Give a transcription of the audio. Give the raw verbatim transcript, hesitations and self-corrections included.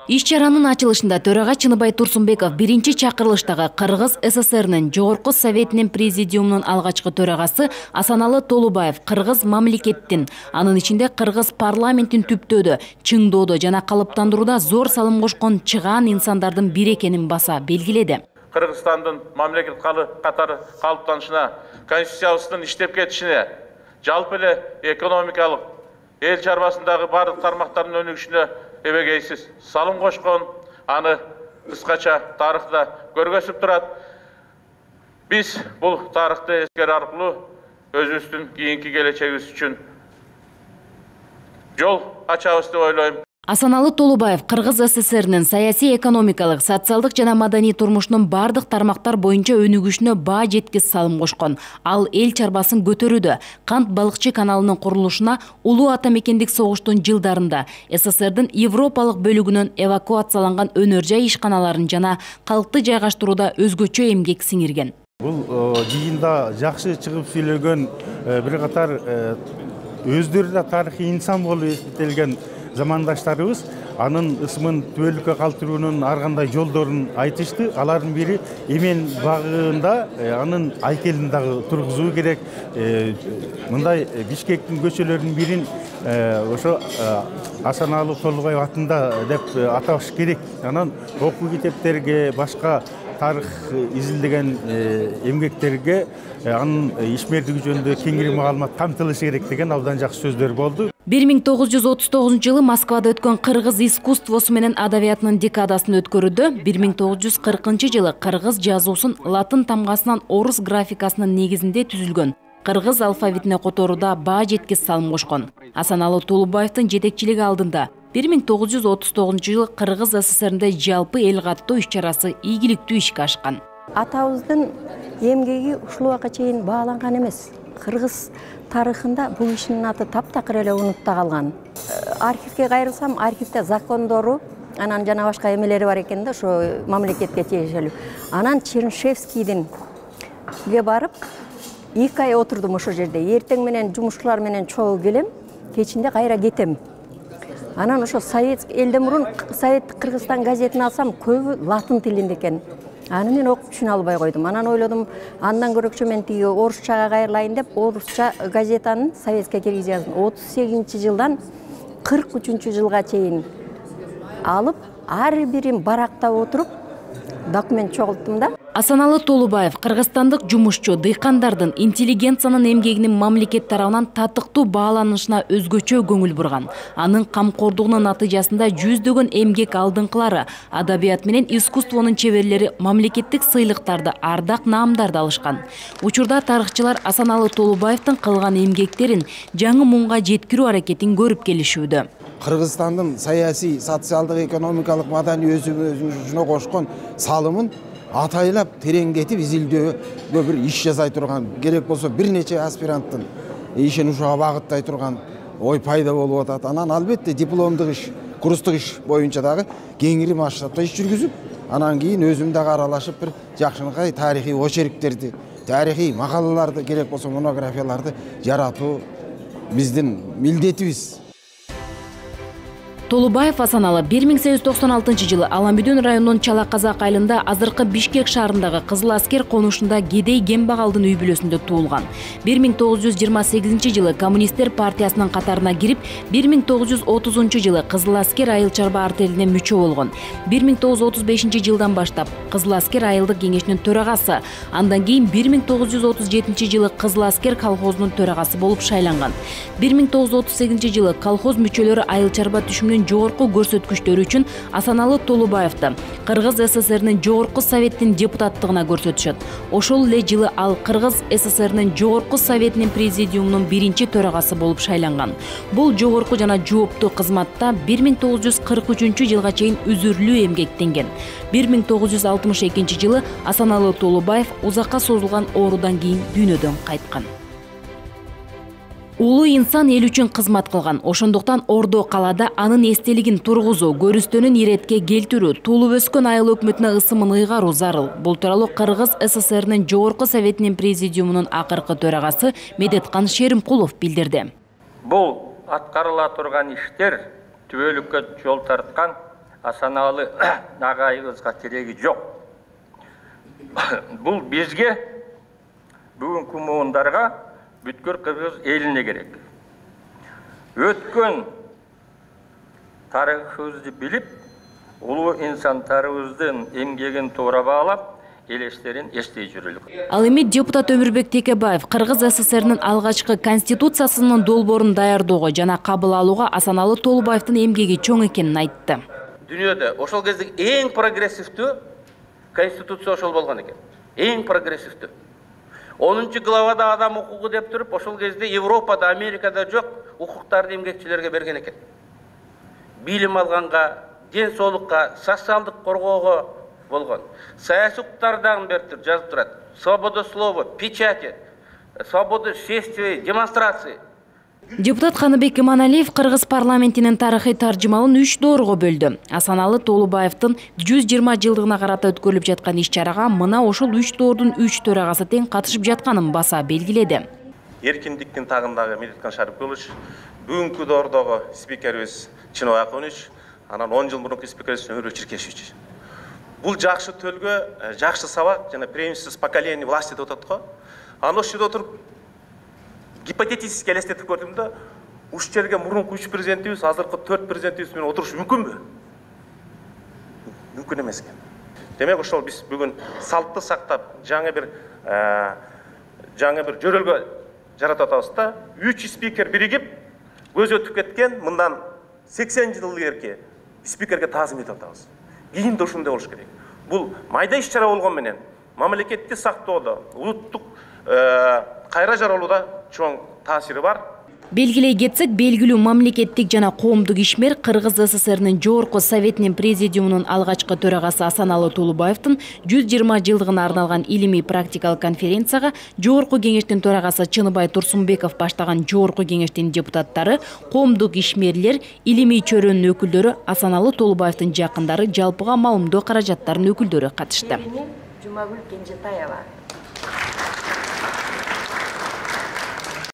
Иш чаранын ачылышында төрага Чыныбай Турсунбеков биринчи чакырылыштагы Кыргыз СССРнин Жогорку Советинин президиумунун алгачкы төрагасы Асаналы Толубаев Кыргыз мамлекеттин, анын ичинде Кыргыз парламентин түптөөдө, чыңдоодо жана калыптандырууда зор салым кошкон чыгаан инсандардын бири экенин баса белгиледи. Кыргызстандын мамлекет катары калыптанышына, конституциябыздын иштеп кетишине, жалпы эле экономикалык эл чарбасындагы бардык тармактардын өнүгүшүнө эбегейсиз салым кошкон, аны кыскача тарыхта көргөзүп турат. Биз бул тарыхты эскерүү аркылуу өзүбүздүн кийинки келечегибиз үчүн жол ачабыз деп ойлойм. Асаналы Толубаев Кыргыз СССРнин саясий, экономикалык, социалдык жана маданий турмушунун бардык тармактар боюнча өнүгүшүнө баа жеткис салым кошкон. Ал эл чарбасын көтөрүүдө, Кант балыкчы каналынын курулушуна, улуу ата мекендик согуштун жылдарында СССРдин Европалык бөлүгүнөн эвакуацияланган өнөр жай ишканаларын жана калкты жайгаштырууда өзгөчө эмгек сиңирген. Бул жыйында жакшы чыгып сүйлөгөн бир катар өздөрү да тарыхый инсан болуп эсептелген замандаштарыбыз анын ысымын түбөлүккө калтыруунун ар кандай жолдорун айтышты. Алардын бири Эмен багында анын айкелин дагы тургузуу керек. Мындай Бишкектин көчөлөрүнүн бирин ошо Асаналы Толубаев атында деп аташ керек. Анан окуу китептерге, башка тарых изилдеген эмгектерге анын ишмердиги жөнүндө кеңири маалымат камтылышы керек деген абдан жакшы сөздөр болду. бир миң тогуз жүз отуз тогузунчу жылы Москвада өткөн Кыргыз искусствосу менен адабиятынын декадасын өткөрүүдө бир миң тогуз жүз кыркынчы жылы кыргыз жазуусун латын тамгасынан орус графикасынын негизинде түзүлгөн кыргыз алфавитине которууда баа жеткис салым кошкон. Асаналы Толубаевдин жетекчилиги алдында бир миң тогуз жүз отуз тогузунчу жылы Кыргыз СССРинде жалпы эл каттоо иш чарасы ийгиликтүү ишке ашкан. Атабыздын эмгеги ушул убакка чейин бааланган эмес. Кыргыз тарыхында бул кишинин аты таптакыр эле унутта калган. Архивге кайрылсам, архивде закондору, анан жана башка эмелери бар экен да, ошо мамлекетке тиешелүү. Анан Чернышевскийдин ге барып, эки ай отурдум ошол жерде. Эртең менен жумушчулар менен чогуу келем, кечинде кайра кетем. Анан ошо совет элден мурун Советтик Кыргызстан газетин алсам, көбү латын тилинде экен. Аны мен окуп түшүнө албай койдум. Анан ойлодум, андан көрөкчө мен тиги орусчага кайрылайын деп, орусча газетанын советке киргизип яздым. отуз сегизинчи жылдан кырк үчүнчү жылга чейин алып, ар бирин барактап отуруп документ чогулттум да. Асаналы Толубаев кыргызстандык жумушчу, дыйкандардын, интеллигенциянын эмгегинин мамлекет тарабынан татыктуу бааланышына өзгөчө көңүл бурган. Анын камкордугунун натыйжасында жүздөгөн эмгек алдыңкылары, адабият менен искусствонун чеберлери мамлекеттик сыйлыктарды, ардак наамдарды алышкан. Учурда тарыхчылар Асаналы Толубаевдин кылган эмгектерин жаңы муңга жеткирүү аракетин көрүп келишүүдө. Кыргызстандын саясий, социалдык, экономикалык, маданий өсүшүнө кошкон салымын атайлап тереңдетип изилдөөгө бир иш жасай турган, керек болсо бир нече аспиранттын ишин ушуга багыттай турган ой пайда болуп атат. Анан албетте дипломдук иш, курстук иш боюнча дагы кеңири масштабта иш жүргүзүп, анан кийин өзүм дагы аралашып бир жакшынакай тарыхый очерктерди, тарыхый макалаларды, керек болсо монографияларды жаратуу биздин милдетибиз. Толубаев Асаналы бир миң сегиз жүз токсон алтынчы жылы Аламбүдүн районунун Чала Казак айылында азыркы Бишкек шаарындагы Кызыл аскер конушунда Кедей Кембагалдын үй бүлөсүндө туулган. бир миң тогуз жүз жыйырма сегизинчи жылы Коммунисттер партиясынын катарына кирип, бир миң тогуз жүз отузунчу жылы Кызыл аскер айыл чарба артелине мүчө болгон. бир миң тогуз жүз отуз бешинчи жылдан баштап Кызыл аскер айылдык кеңешинин төрагасы, андан кийин бир миң тогуз жүз отуз жетинчи жылы Кызыл аскер колхозунун төрагасы болуп шайланган. бир миң тогуз жүз отуз сегизинчи жылы колхоз мүчөлөрү айыл чарба түшүмүнүн жогорку көрсөткүчтөрү үчүн Асаналы Толубаевди Кыргыз СССРинин Жогорку Советтин депутаттыгына көрсөтүшөт. Ошол эле жылы ал Кыргыз СССРинин Жогорку Советинин президиумунун биринчи төрагасы болуп шайланган. Бул жогорку жана жооптуу кызматта бир миң тогуз жүз кырк үчүнчү жылга чейин үзүрлүү эмгектенген. бир миң тогуз жүз алтымыш экинчи жылы Асаналы Толубаев узакка созулган оорудан кийин дүйнөдөн кайткан. Улуу инсан эл үчүн кызмат кылган. Ошондуктан Ордо калаада анын эстелигин тургузуу, көрүстөнүн иретке келтирүү, туулуп өскөн айыл өкмөтүнө ысымын ыйгаруу зарыл. Бул тууралуу Кыргыз СССРинин Жогорку Советинин президиумунун акыркы төрагасы Медеткан Шеримкулов билдирди. Бул аткарыла турган иштер түбөлүккө жол тарткан Асаналы агайыбызга кереги жок. Бул бизге, бүгүнкү муундарга, бүткүл кыргыз элине керек. Өткөн тарыхыбызды билип, улуу инсандарыбыздын эмгегин туура баалап, элестерин эстей жүрөлүк. Ал эми депутат Өмүрбек Текебаев Кыргыз СССРнин алгачкы конституциясынын долбоорун даярдоого жана кабыл алууга Асаналы Толубаевдин эмгеги чоң экенин айтты. Дүйнөдө ошол кездеги эң прогрессивдүү конституция ошол болгон экен. Эң прогрессивдүү. онунчу главада адам укугу деп туруп, ошол кезде Европада, Америкада жок укуктарды эмгекчилерге берген экен. Билим алганга, ден соолукка, социалдык коргоого болгон. Саясий укуктардан берип жазып турат. Свобода слова, печати, свобода шествий, демонстрации. Депутат Каныбек Иманалиев Кыргыз парламентинин тарыхый таржымалын үч доорго бөлдү. Асаналы Толубаевдин жүз жыйырма жылдыгына карата өткөрүлүп жаткан иш-чарага мына ошол үч доордун үч төрагасы тең катышып жатканын баса белгиледи. Эркиндиктин тагындагы Медеткан Шарипкулович, бүгүнкү доордогу спикерибиз Чыныбай Акунович, анан он жыл мурунку спикерибиз Өмүрбек Черкешевич. Бул жакшы төлгө, жакшы сабак жана преемственность поколения власти деп атат го. Аны ошол жерде отуруп гипотетически элестетип көрдүм да, уш жерге мурунку үч президентибиз, азыркы төрт президентибиз менен отуруш мүмкүнбү? Мүмкүн эмес экен. Демек ошол биз бүгүн салтты сактап, жаңы бир жаңы бир жөрөлгө жаратып атабыз да, үч спикер биригип, көз өтүп кеткен мындан сексен жыл илгерки спикерге таазим этип атабыз. Кийин да ушундай болуш керек. Бул майда иш-чара болгон менен мамлекетти сактоодо, улуттук кайра жаралууда чоң таасири бар. Белгилей кетсек, белгилүү мамлекеттик жана коомдук ишмер Кыргыз СССРнин жогорку советинин президиумунун алгачкы төрагасы Асаналы Толубаевдин жүз жыйырма жылдыгына арналган илимий практикалык конференцияга жогорку кеңештин төрагасы Чыныбай Турсунбеков баштаган жогорку кеңештин депутаттары, коомдук ишмерлер, илимий чөрөнүн өкүлдөрү, Асаналы Толубаевдин жакындары, жалпыга маалымдоо каражаттарынын өкүлдөрү катышты. Жумагүл Кенжетаева